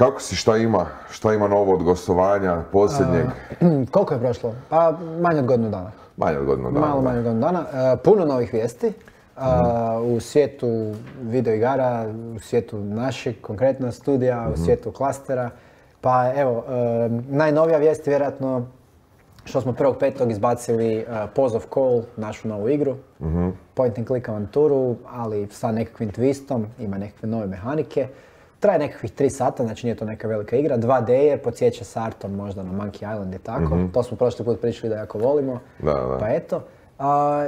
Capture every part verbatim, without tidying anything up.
kako si, šta ima, šta ima novo od gostovanja, posljednjeg? Uh, koliko je prošlo? Pa manje od godinu dana. Manje od godinu dana. Malo manje od godinu dana. Uh, puno novih vijesti. Uh, mm. U svijetu videoigara, u svijetu našeg konkretno studija, mm. u svijetu klastera. Pa evo, uh, najnovija vijest je vjerojatno što smo prvog petog izbacili uh, Pause of Call, našu novu igru. Mm-hmm. Point and click avanturu, ali sa nekakvim twistom, ima nekakve nove mehanike. Traje nekakvih tri sata, znači nije to neka velika igra. dva D je, podsjeća s artom možda na Monkey Island i tako. Mm-hmm. To smo prošli put pričali da jako volimo. Da, da. Pa eto. Uh,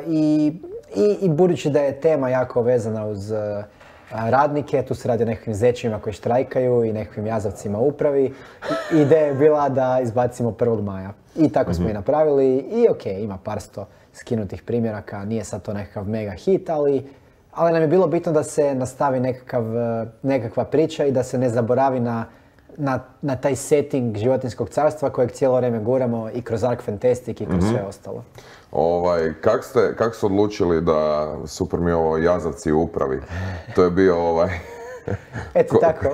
i, i, I budući da je tema jako vezana uz uh, radnike, tu se radi o nekakvim zečima koji štrajkaju i nekakvim jazavcima u upravi. I, ideja je bila da izbacimo prvog maja. I tako mm-hmm. smo i napravili. I ok, ima par sto skinutih primjeraka, nije sad to nekakav mega hit, ali Ali nam je bilo bitno da se nastavi nekakav, nekakva priča i da se ne zaboravi na, na, na taj setting životinjskog carstva kojeg cijelo vrijeme guramo i kroz Ark Fantastic i kroz mm-hmm. sve ostalo. Ovaj, kak ste, kak ste odlučili da, super mi ovo, jazavci u upravi? To je bio ovaj... Eto tako,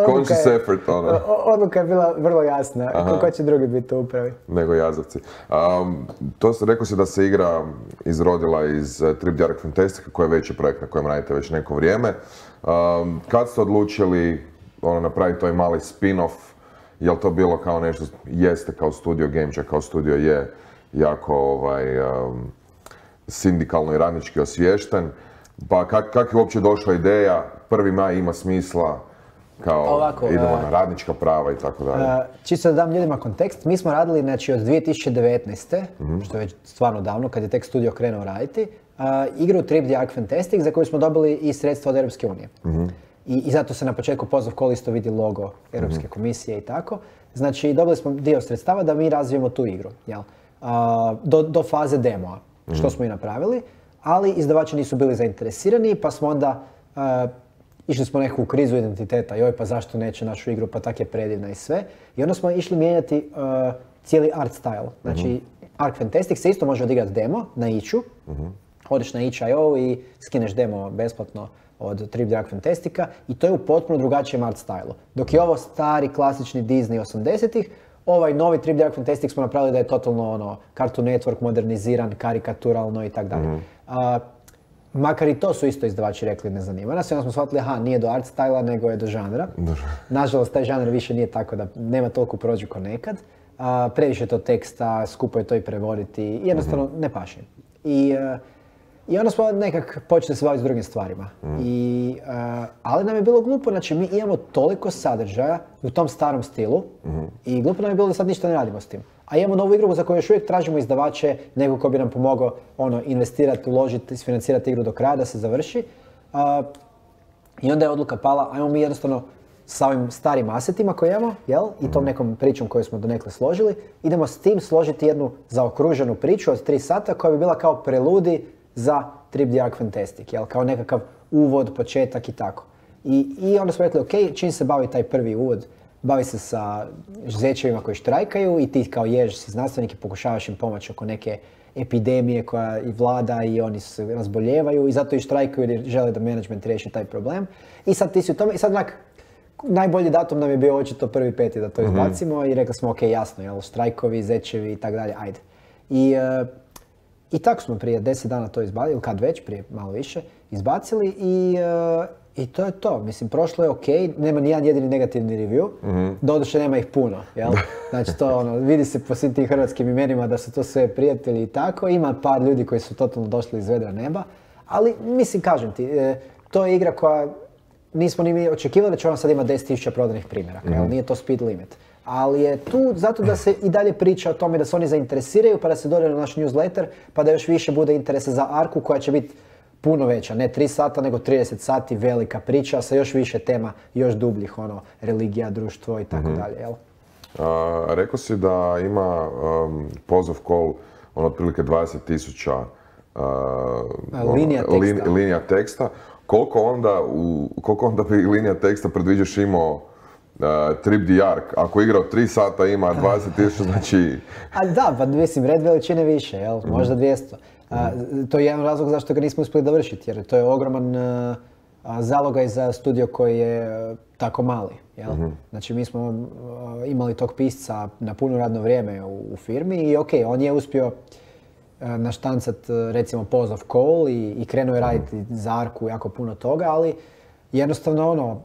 conscious effort, ono. Odluka je bila vrlo jasna, kako će drugi biti u upravi. Nego jazavci. Um, to se, rekao si da se igra izrodila iz uh, Trip the Ark Fantastica, koji je veći projekt na kojem radite već neko vrijeme. Um, kad ste odlučili ono, napraviti taj mali spin-off, je li to bilo kao nešto, jeste kao studio Gamecha, kao studio je jako ovaj, um, sindikalno i radnički osviješten, pa kak, kak je uopće došla ideja, prvi maj ima smisla, kao ovako, idemo uh, na radnička prava i tako dalje. Uh, čisto da dam ljudima kontekst, mi smo radili znači, od dvije tisuće devetnaeste. Mm-hmm. što je već stvarno davno, kad je tek studio krenuo raditi, uh, igru Trip the Ark Fantastic za koju smo dobili i sredstva od Europske unije. Mm-hmm. I, I zato se na početku Pause of Call isto vidi logo Europske mm-hmm. komisije i tako. Znači dobili smo dio sredstava da mi razvijemo tu igru, jel? Uh, do, do faze demoa, mm-hmm. što smo i napravili, ali izdavači nisu bili zainteresirani, pa smo onda uh, išli smo neku krizu identiteta, joj pa zašto neće našu igru, pa tak je predivna i sve. I onda smo išli mijenjati uh, cijeli art style. Znači, mm-hmm. Ark Fantastic se isto može odigrati demo na itchu. Mm-hmm. Odeš na itch dot i o i skineš demo besplatno od Trip the Ark Fantastica i to je u potpuno drugačijem art stylu. Dok je ovo stari, klasični Disney osamdesetih, ovaj novi Trip the Ark Fantastic smo napravili da je totalno ono, Cartoon Network moderniziran, karikaturalno i tako dalje. Mm-hmm. Makar i to su isto izdavači rekli ne zanima nas i onda smo shvatili aha, nije do art styla nego je do žanra. Nažalost, taj žanr više nije tako da nema toliko prođu ko nekad. Uh, previše to teksta, skupo je to i prevoditi i jednostavno mm-hmm. ne paše. I, uh, I onda smo nekak počeli se baviti s drugim stvarima. Mm. I, uh, ali nam je bilo glupo, znači mi imamo toliko sadržaja u tom starom stilu mm-hmm. i glupo nam je bilo da sad ništa ne radimo s tim. A imamo novu igru za koju još uvijek tražimo izdavače, nego ko bi nam pomogao ono, investirati, uložiti, isfinancirati igru do kraja da se završi. Uh, I onda je odluka pala, ajmo mi jednostavno sa ovim starim asetima koje imamo, jel? I tom nekom pričom koju smo donekle složili, idemo s tim složiti jednu zaokruženu priču od tri sata koja bi bila kao preludi za Trip the Ark Fantastic, jel? Kao nekakav uvod, početak i tako. I, i onda smo rekli, ok, čim se bavi taj prvi uvod, bavi se sa zečevima koji štrajkaju i ti kao jež si znanstvenik i pokušavaš im pomoći oko neke epidemije koja i vlada i oni se razboljevaju i zato i štrajkaju jer žele da management riješi taj problem. I sad ti si u tome, i sad onak, najbolji datum nam je bio očito prvi peti da to izbacimo mm-hmm. i rekli smo ok, jasno, jel, štrajkovi, zečevi i tak dalje, ajde. I, uh, i tako smo prije deset dana to izbacili, ili kad već, prije malo više, izbacili i uh, I to je to. Mislim, prošlo je ok, nema nijedan jedini negativni review, mm-hmm. doduše nema ih puno, jel? Znači to ono, vidi se po svim tim hrvatskim imenima da su to sve prijatelji i tako, ima par ljudi koji su totalno došli iz vedra neba, ali mislim, kažem ti, e, to je igra koja nismo ni mi očekivali da će ona sad ima deset tisuća prodanih primjeraka, mm-hmm. jel? Nije to speed limit. Ali je tu zato da se i dalje priča o tome da se oni zainteresiraju, pa da se dođe na naš newsletter, pa da još više bude interesa za Arku koja će biti puno veća, ne tri sata, nego trideset sati, velika priča sa još više tema, još dubljih, ono, religija, društvo i tako mm-hmm. dalje, jel? A, rekao si da ima um, Pause of Call, ono, otprilike dvadeset tisuća uh, linija teksta. Lin, linija teksta. Koliko onda, u, koliko onda bi linija teksta predviđaš imao uh, Trip the Ark? Ako igra od tri sata ima dvadeset tisuća, znači... A da, pa mislim, red veličine više, jel? Možda dvjesto. A, to je jedan razlog zašto ga nismo uspjeli dovršiti, jer to je ogroman, uh, a, zalogaj za studio koji je a, tako mali. Jel? Mm-hmm. Znači mi smo a, imali tog pisca na puno radno vrijeme u, u firmi i ok, on je uspio a, naštancat recimo Pause of Call i, i krenuo je raditi mm-hmm. za Arku jako puno toga, ali jednostavno ono,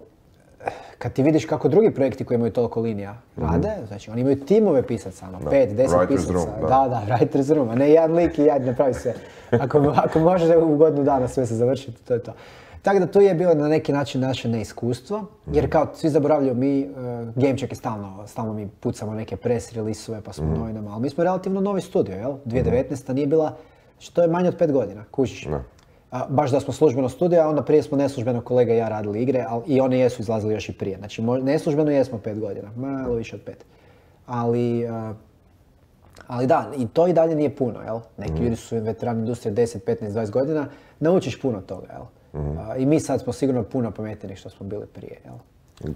kad ti vidiš kako drugi projekti koji imaju toliko linija rade, mm-hmm. znači oni imaju timove pisaca, ono, pet, deset pisaca. Room, da. da, da, writer's room, a ne jedan lik i jedan napravi sve. Ako, ako može u godinu dana sve se završiti, to je to. Tako da tu je bilo na neki način naše neiskustvo, jer kao svi zaboravljaju, mi, uh, Gamecheck je stalno, stalno mi pucamo neke press release-ove pa smo mm-hmm. novinama, ali mi smo relativno novi studio, jel? dvije tisuće devetnaesta nije bila, što je manje od pet godina, kužiš. No. A, baš da smo službeno studio, a onda prije smo neslužbeno kolega i ja radili igre, ali i oni jesu izlazili još i prije. Znači neslužbeno jesmo pet godina, malo više od pet. Ali, uh, ali da, i to i dalje nije puno, jel? Neki mm. ljudi su veterani industrije deset, petnaest, dvadeset godina, naučiš puno toga, jel? Mm. Uh, I mi sad smo sigurno puno pametniji što smo bili prije, jel?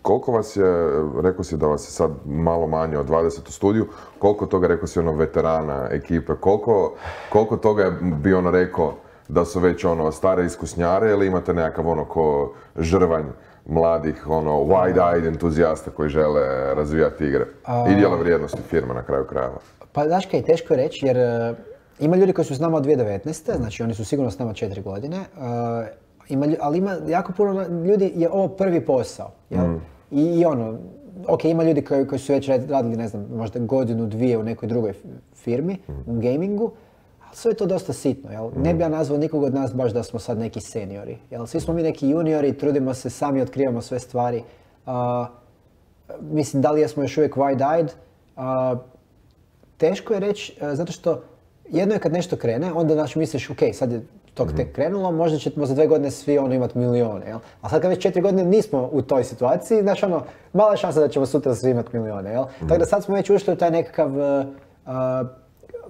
Koliko vas je, rekao si da vas je sad malo manje od dvadeset u studiju, koliko toga rekao si ono veterana ekipe, koliko, koliko toga je bi ono rekao da su već ono stare iskusnjare ili imate nekakav ono ko žrvanj mladih ono wide-eyed entuzijasta koji žele razvijati igre i dijela vrijednosti firme na kraju krajeva? Pa znaš kaj, teško je reći jer uh, ima ljudi koji su s nama od dvije tisuće devetnaeste. Znači oni su sigurno s nama četiri godine, uh, ima, ali ima jako puno ljudi je ovo prvi posao. Jel? Mm. I, I ono, ok, ima ljudi koji, koji su već radili ne znam, možda godinu, dvije u nekoj drugoj firmi, mm. u gamingu. Sve je to dosta sitno, jel? Mm. Ne bi ja nazvao nikog od nas baš da smo sad neki seniori, jel? Svi smo mi neki juniori, trudimo se, sami otkrivamo sve stvari. Uh, mislim, da li jesmo još uvijek wide-eyed? Uh, teško je reći, uh, zato što jedno je kad nešto krene, onda znači misliš, ok, sad je to mm. tek krenulo, možda ćemo za dve godine svi ono imati milijone, jel? A sad kad već četiri godine nismo u toj situaciji, znači ono, mala je šansa da ćemo sutra svi imati milijone, jel? Mm. Tako da sad smo već ušli u taj nekakav uh, uh,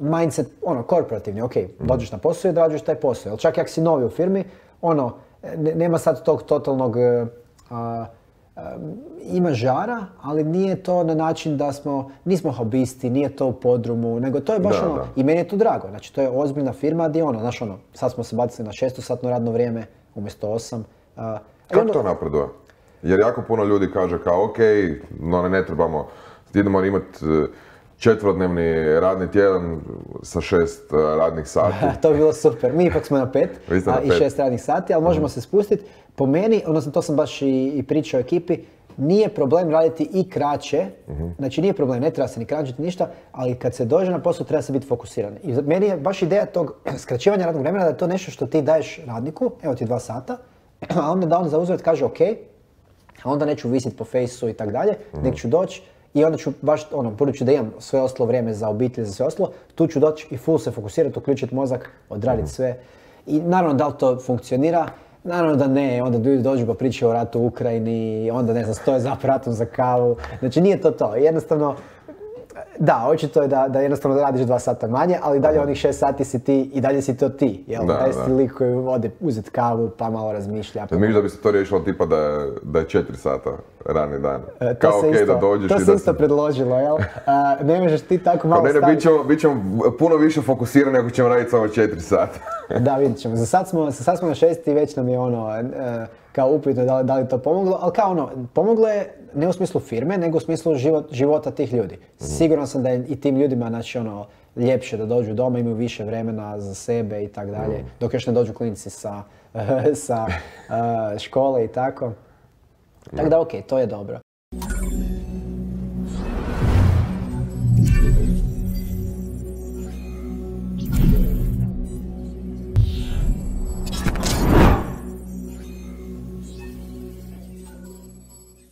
mindset, ono, korporativni, ok, dođeš na posao i odrađuješ taj posao. Jel čak i ako si novi u firmi, ono, ne, nema sad tog totalnog, uh, uh, ima žara, ali nije to na način da smo, nismo hobisti, nije to u podrumu, nego to je baš da, ono, da. I meni je to drago, znači to je ozbiljna firma gdje ono, znaš ono, sad smo se bacili na šestosatno radno vrijeme umjesto osam. Uh, Kako ono, to napreduje? Jer jako puno ljudi kaže kao, ok, no ne trebamo, idemo imati četverodnevni radni tjedan sa šest radnih sati. To bi bilo super. Mi ipak smo na pet, na a, i šest radnih sati, ali možemo mm. se spustiti. Po meni, odnosno to sam baš i, i pričao ekipi, nije problem raditi i kraće, mm-hmm. znači nije problem, ne treba se ni kraćiti ništa, ali kad se dođe na posao treba se biti fokusiran. I meni je baš ideja tog skraćivanja radnog vremena da je to nešto što ti daješ radniku, evo ti dva sata, a onda da on za uzvrat kaže ok, a onda neću visiti po fejsu i tak dalje, mm-hmm. nek ću doći. I onda ću baš, ono, budući da imam sve ostalo vrijeme za obitelj, za sve ostalo, tu ću doći i full se fokusirati, uključiti mozak, odraditi mm. sve. I naravno da li to funkcionira? Naravno da ne, onda ljudi dođu pa pričaju o ratu u Ukrajini, onda ne znam, stoje za aparatom za kavu. Znači nije to to, jednostavno, da, očito je da, da jednostavno radiš dva sata manje, ali dalje onih šest sati si ti i dalje si to ti, jel? Da, taj si lik koji ode uzeti kavu pa malo razmišlja. Pa misliš da bi se to riješilo tipa da je, da je četiri sata rani dan? E, Kao okej okay, da dođeš to i da... To se isto predložilo, jel? A, ne možeš ti tako malo staviti... Ne, ne, bit ćemo, bit ćemo puno više fokusirani ako ćemo raditi samo četiri sata. Da, vidit ćemo. Za sad smo, za sad smo na šest i već nam je ono, e, kao upitno da, da li to pomoglo, ali kao ono, pomoglo je ne u smislu firme, nego u smislu život, života tih ljudi. Mm. Siguran sam da je i tim ljudima, znači ono, ljepše da dođu doma, imaju više vremena za sebe i tak dalje, mm. dok još ne dođu klinci sa, sa uh, škole i tako. Tako da, ok, to je dobro.